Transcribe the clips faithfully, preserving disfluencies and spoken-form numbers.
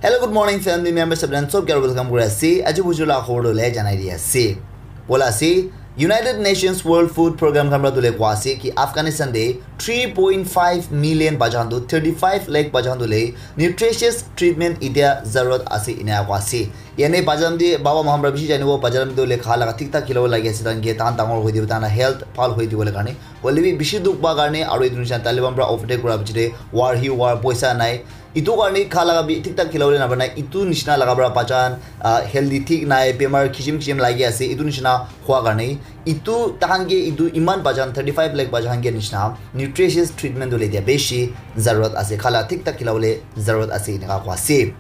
Hello, good morning, family members. Sabran sob kya welcome kuri ase. Aji bujula khobor le janai di ase. Bola ase, United Nations World Food Program khan pra dule kwa ase ki Afghanistan de three point five million bajan tu thirty-five lakh bajan tu le nutritious treatment itia zarurat ase ina kwa ase. Yane bajan de baba mahamra bishi janibo bajan de le kha laga thik thak khilabo lagi ase tan ge tan dangor hoi dibo tan health bhal hoi dibo le karne. Hoile bi bishi dukh pa karne aru etu nisina Taliban pra overtake kura bichire war hi war poisa nai. Itu karne kha laga bi thik thak khilabole napanai. Itu nishina laga pra bajan, ah, healthy thik nai, bemar kisim kisim lagi ase. Itu nishina hua karne itu tahan ke itu iman bajan thirty-five lakh bajan ke nishina nutritious treatment dole dia beshi zarurat ase. Kha la thik thak khilabole zarurat ase eneka koi ase.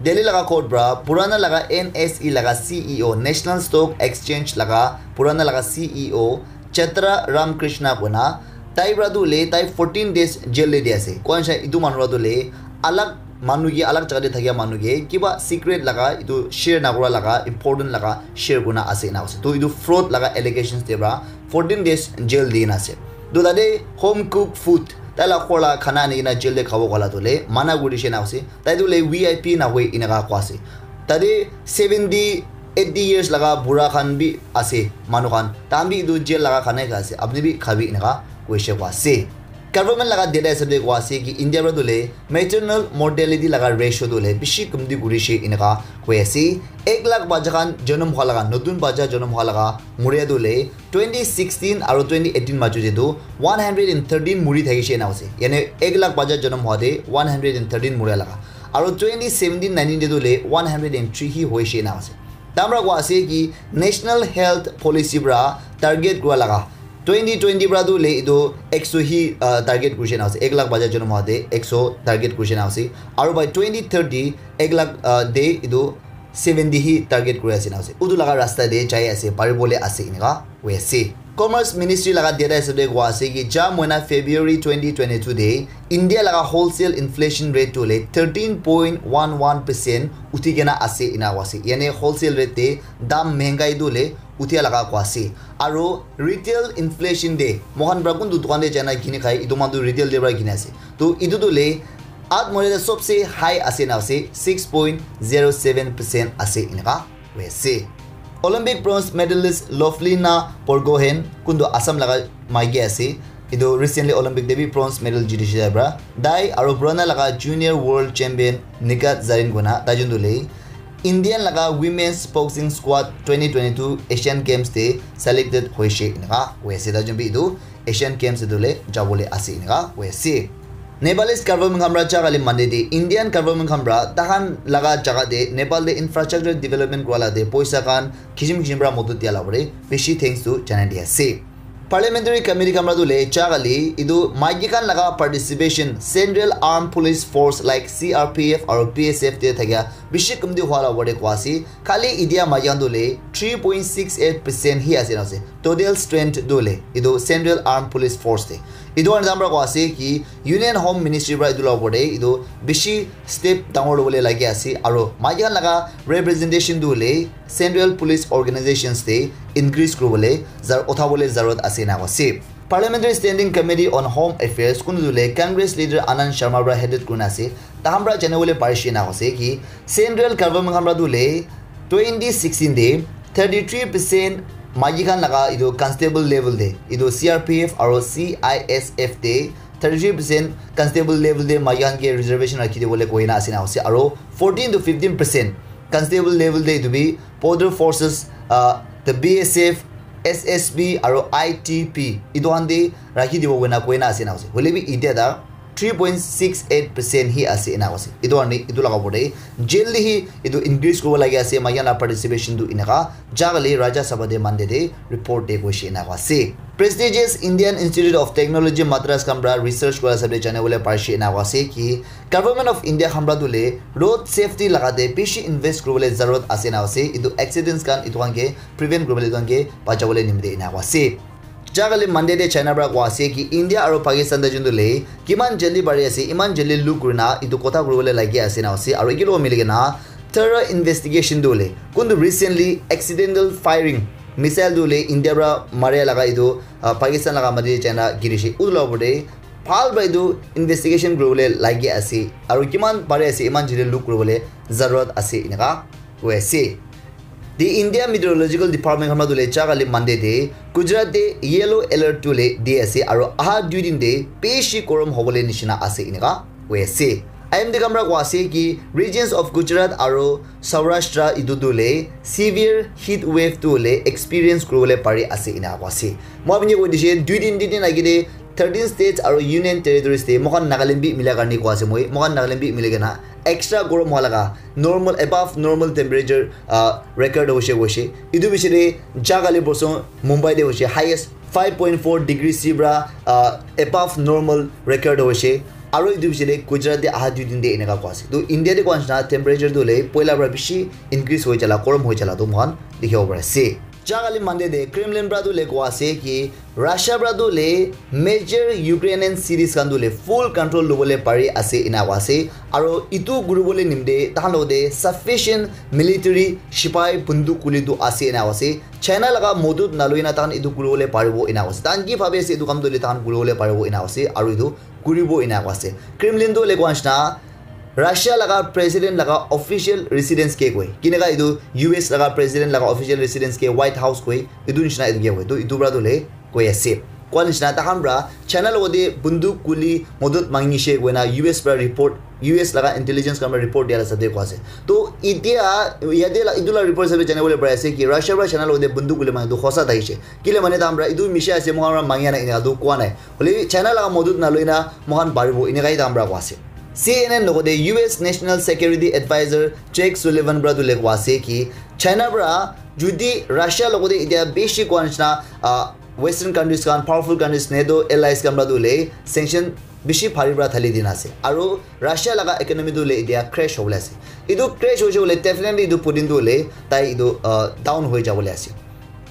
Delhi laga court pra purana laga N S E laga C E O, National Stock Exchange laga purana laga C E O Chitra Ramkrishna kona tai pra tu le tai fourteen days jail le di ase. Kwan sha itu manu pra tu le alag manu ke alag jaga te thakia manu ke kiba secret laga itu share na kura laga important laga share kuna ase na ase. To itu fraud laga allegations te pra fourteen days jail di na ase. To tate home cook food tai la khor la khana ani kena jail te khabo kola tu le mana kuri she na ase. Tai tu le V I P na hoi inaka kwa ase. Tate seventy eighty years laga bura khan bi ase manu khan. Tahan bi etu jail laga khana kha ase. Apni bi khabi eneka koishe kwa ase. Government laga data hisab de kwa ase ki India pra dule maternal mortality laga ratio dule bishi kumti kurishe eneka koi ase. Ek lakh bacha khan jonom hwa laga, notun bacha jonom hwa laga muria dule twenty sixteen aro twenty eighteen majo de tu one hundred and thirteen muri thakishe ena ase. Yane ek lakh bacha jonom hwa de one hundred and thirteen muria laga. Aro twenty seventeen nineteen de tu le one hundred and three hi hoishe ena ase. Tamra kwa ase ki National Health Policy pra target kura laga twenty twenty pra tu le itu ekso hi, uh, target kurishe na ase. Ek lakh bacha jonom hwa de ekso target kurishe na ase. Aro by twenty thirty ek lakh, uh, de itu seventy hi target kuri ase na ase. Utu laga rasta de jai ase, paribole ase eneka hoi ase. Commerce Ministry laga data hisab de kwa ase ki ja moina February twenty twenty-two de India laga wholesale inflation rate tu le thirteen point one one percent uthi kena ase ena koi ase. Yane wholesale rate te dam mehengai tu le uthia laga koi ase. Aro retail inflation de mohan pra kuntu dukan de jana kini khai itu manu retail de pra kini ase. To itu tu le at moile sobse high ase na ase six point zero seven percent ase eneka hoi ase. Olympic bronze medalist Lovlina Borgohain kuntu Assam laga maiki ase. Itu recently Olympic de bi bronze medal jitishe pra. Tai aro purana laga junior world champion Nikat Zarin kona tai jun tu le Indian laga women's boxing squad twenty twenty-two Asian Games de selected hoishe eneka hoi ase. Tai jun bi itu Asian Games de tu le jabole ase eneka hoi ase. Nepalese government khan pra jaga le mande de Indian government khan pra tahan laga jaga de Nepal de infrastructure development kura la de poisa khan kisim kisim pra modot dia la pore bishi thanks tu janai di ase. Parliamentary Committee khan pra tu le jaga le itu maiki khan laga participation Central Armed Police Force like C R P F aro B S F te thakia bishi kumti hwa la pore kwa ase. Khali idia maiki khan tu le three point six eight percent hi ase na ase. Total strength tu le itu Central Armed Police Force te. Itu khan jam pra kwa ase ki Union Home Ministry pra itu la opor te itu bishi step dangor lobole lagi ase aro maiki khan laga representation tu le Central Police Organizations te increase kuribole zar uthabole zarurat ase na ase. Parliamentary Standing Committee on Home Affairs kunu tu le Congress leader Anand Sharma pra headed kurina ase. Tahan pra janibole parishe na ase ki Central government khan pra tu le twenty sixteen de thirty-three percent maiki khan laga itu constable level de itu C R P F aro C I S F de thirty-three percent constable level de maiki khan ke reservation rakhi dibole koina ase na ase aro fourteen to fifteen percent constable level de itu bi border forces, uh, the B S F, S S B aro I T P itu khan de rakhi dibo koina koina ase na ase. Hoile bi itia ta three point six eight percent hi ase ena ase. Itu karne itu laga opor te jail te hi itu increase kuribo lagi ase maiki khan la participation tu eneka jaga le Rajya Sabha te Monday te report te koishe ena ase. Prestigious Indian Institute of Technology Madras khan pra research kura hisab te janibole parishe ena ase ki Government of India khan pra tu le road safety laga te bishi invest kuribole zarurat ase na ase. Itu accidents khan itu khan ke prevent kuribole itu khan ke bachabole nimite ena ase. Jaga le Monday de China pra kwa ase ki India aro Pakistan de jun tu le kiman jaldi bari ase, iman jaldi look kurina itu kotha kuribole lagi ase na ase. Aro iki logo mili kena thorough investigation tu le kuntu recently accidental firing missile tu le India pra maria laga itu, ah, Pakistan laga mati de China girishe. Utu la opor te bhal para etu investigation kuribole lagi ase, aru kiman pare ase iman jildi look kuribole zarurat ase, eneka koi ase. The India Meteorological Department khan para tu le ja kali Monday te Gujarat te yellow alert tu le di ase, aru aha dui din te beshi gorom hobole nishina ase, eneka koi ase. I M D khan para koi ase ki regions of Gujarat aru Saurashtra etu tu le severe heat wave tu le experience kuribole pari ase, eneka koi ase. Moi apni koi dise dui din, tin din agi te thirteen states aru union territories te moikhan Nagaland bi mila karne koi ase moi. Moikhan Nagaland bi mili kena extra gorom hua laga, normal, above normal temperature, ah, record hoise, hoise. Etu bishi te ja kali porson Mumbai te hoise, highest five point four degree C para, ah, above normal record hoise. Aru etu bishi te Gujarat te aha dui din te eneka koi ase. To India te koi nishina temperature tu le poila para bishi increase hoi jala, gorom hoi jala tu moikhan dikhibo pari ase. Ja kali Monday te Kremlin para tu le koi ase ki Russia para tu le major Ukrainian cities khan tu le full control lobole pari ase, eneka koi ase. Aru etu kuribole nimite tahan logote sufficient military sipai bunduk guli tu ase, eneka koi ase. China laga modot naloi na tahan etu kuribole paribo, eneka koi ase. Tahan ki bhabi ase etu kam tu le tahan kuribole paribo, eneka koi ase. Aru etu kuribo, eneka koi ase. Kremlin tu le koi nishina Russia laga president laga official residence ke koi. Kineka etu U S laga president laga official residence ke White House koi. Etu nishina etu ke koi. To etu para tu le koi ase. Koi nishina tahan para China logote bunduk guli modot mangishe koina U S para report, U S laga intelligence khan para report dia la hisab te koi ase. To etia yate la, etu la report hisab te janibole pari ase ki Russia para China logote bunduk guli manga tu hosa thakishe. Kile mane tahan para etu misha ase, moikhan para mangia nai, eneka tu koi nai. Hoile bi China laga modot naloi na moikhan paribo, eneka hi tahan para koi ase. C N N logote U S National Security Advisor Jake Sullivan para tu le koi ase ki China para jodi Russia logote etia beshi koi nishina, ah, Western countries khan, powerful countries, NATO allies khan para tu le sanction bishi bhari para thali dina ase. Aru Russia laga economy tu le etia crash hobole ase. Etu crash hoise bole definitely etu Putin tu le tai etu, ah, down hoi jabole ase.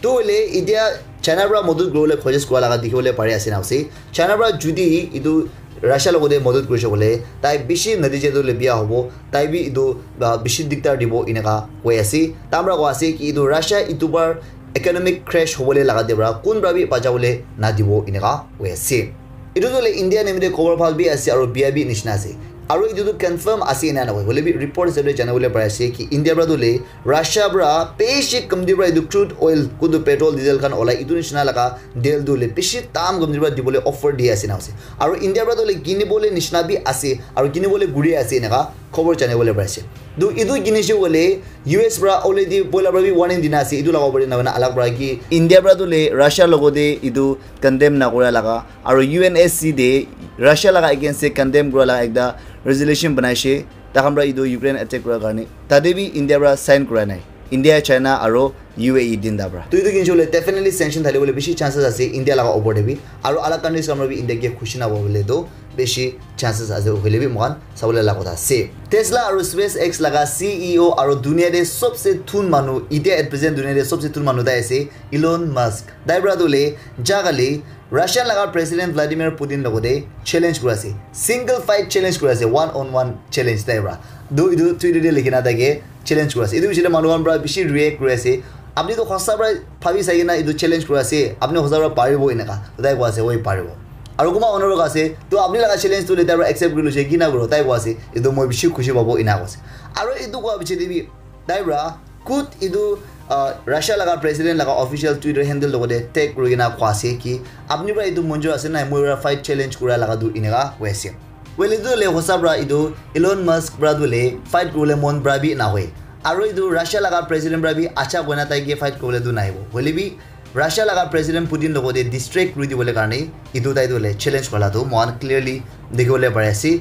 To hoile etia China para modot kuribole koshish kura laga dikhibole pari ase na ase. China para jodi etu Russia logote modot kurise koile tai bishi natija tu le biya hobo, tai bi etu, ah, bishi diktar dibo eneka koi ase. Tahan para koi ase ki etu Russia etu bar economic crash hobole laga te para kun para bi bachabole nadibo eneka koi ase. Etu tu le India nimite khobor bhal bi ase aru biya bi nishina ase. Aru etu tu confirm ase ena nahoi. Hoile bi report hisab te janibole pari ase ki India para tu le Russia para bishi kamti para etu crude oil kutu petrol diesel khan olai etu nishina laga deal tu le bishi dam kamti para dibole offer di ase na ase. Aru India para tu le kinibole nishina bi ase aru kinibole guri ase eneka khobor janibole pari ase. Tu etu kinishe koile U S para already poila para bi warning dina ase, etu laga opor te nahoi na alag para ki India para tu le Russia logote etu condemn nakura laga aru U N S C te Russia laga against te condemn kura laga ekta resolution banaishe, tahan para etu Ukraine attack kura karne, tate bi India para sign kura nai, India, China aru U A E tinta para. Tu etu kinishe koile definitely sanction thali bole bishi chances ase India laga opor te bi, aru alag countries khan para bi India ke khushi nahobole tu bishi chances ase, hoile bi moikhan sabole laga kotha ase. Tesla aru SpaceX laga C E O aru dunia te sobse thun manu, etia at present dunia te sobse thun manu tai ase Elon Musk. Tai para tu le ja kali Russian laga President Vladimir Putin logote challenge kuri ase, single fight challenge kuri ase, one on one challenge tai para. Tu etu Twitter te likhi na thake challenge kuri ase. Etu bishi te manu khan para bishi react kuri ase. Apni tu hosa para bhabi sai kena etu challenge kuri ase, apni hosa para paribo eneka. Tai koi ase, oi paribo. Aru kunba honour ase, to apni laga challenge tu leader para accept kuri loise, ki na kuro, tai koi ase, etu moi bishi khushi pabo, ena koi ase. Aru etu koa piche te bi, tai para khud etu, ah, Russia laga president laga official Twitter handle logote tag kuri kena koi ase ki, apni para etu monjur ase na, moi para fight challenge kura laga tu eneka koi ase. Well, etu le hosa para etu Elon Musk para tu le fight kuribole mon para bi nahoi. Aru etu Russia laga president para bi acha koina tai ke fight kuribole tu nahibo. Hoile bi Russia laga President Putin logote distract kuri dibole karne etu tai tu le challenge kura la tu moikhan clearly dikhi bole pari ase.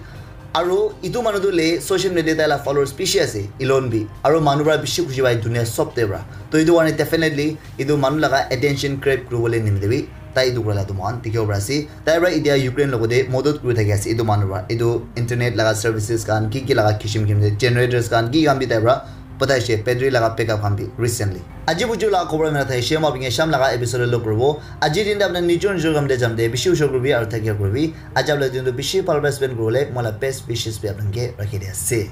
Aru etu manu tu le social media tai la followers bishi ase, Elon bi. Aru manu para bishi khushi pai dunia sob te para. To etu karne definitely etu manu laga attention grab kuri bole nimite bi tai etu kura la tu moikhan dikhi bo pari ase. Tai para etia Ukraine logote modot kuri thaki ase etu manu para. Etu internet laga services khan, ki ki laga kishim kishim te generators khan, ki khan bi tai para patai she battery laga backup khan bi recently. Aji buju laga khobor mera thai she ma binge sham laga episode lo kuribo. Aji din te apna nijor nijor kam te jam te bishi ushor kuribi aru thakia kuribi. Aji apna din tu bishi bhal para spend kuribole mola best wishes bi apna ke rakhi di ase.